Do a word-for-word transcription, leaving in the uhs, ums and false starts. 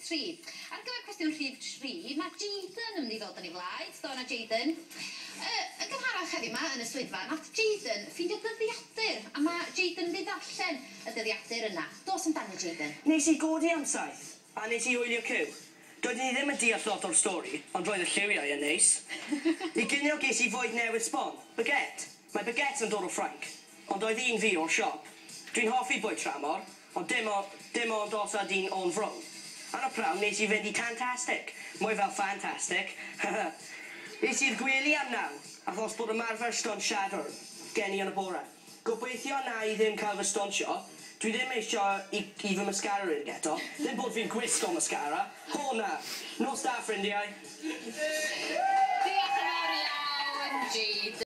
tri. Ar gyfer cwestiwn rhif tri, mae Jaden yn mynd i ddod yn ei flaen. Dona Jaden. Uh, yn gynharach heddiw 'ma yn y swyddfa, nath Jaden ffeindio dyddiadur, a mae Jaden yn mynd i ddarllen y dyddiadur yna. Dos amdani, Jaden. Nes i godi am saith, a nes i wylio Cyw. Doeddwn i ddim yn deall lot o'r stori, ond roedd y lliwiau yn neis. I ginio ges i fwyd newydd sbon, baguette. Mae baguette yn dod o Ffrainc, ond oedd un fi o'r siop. Dwi'n hoffi bwyd tramor, ond dim, o, dim ond os ydy'n o'n fro. Ar y prawn nes i fynd i Tantastic, mwy fel fantastic. Es i'r gwely am naw, achos bod ymarfer stwnt Siadwrn gen i yn y bore. Gobeithio na i ddim cael fy stwntio. Dwi ddim eisiau i, i fy mascara i'r eto. Ddim bod fi'n gwisgo mascara. O na. Nos da, ffrindiau. Diolch yn fawr iawn, Jaden.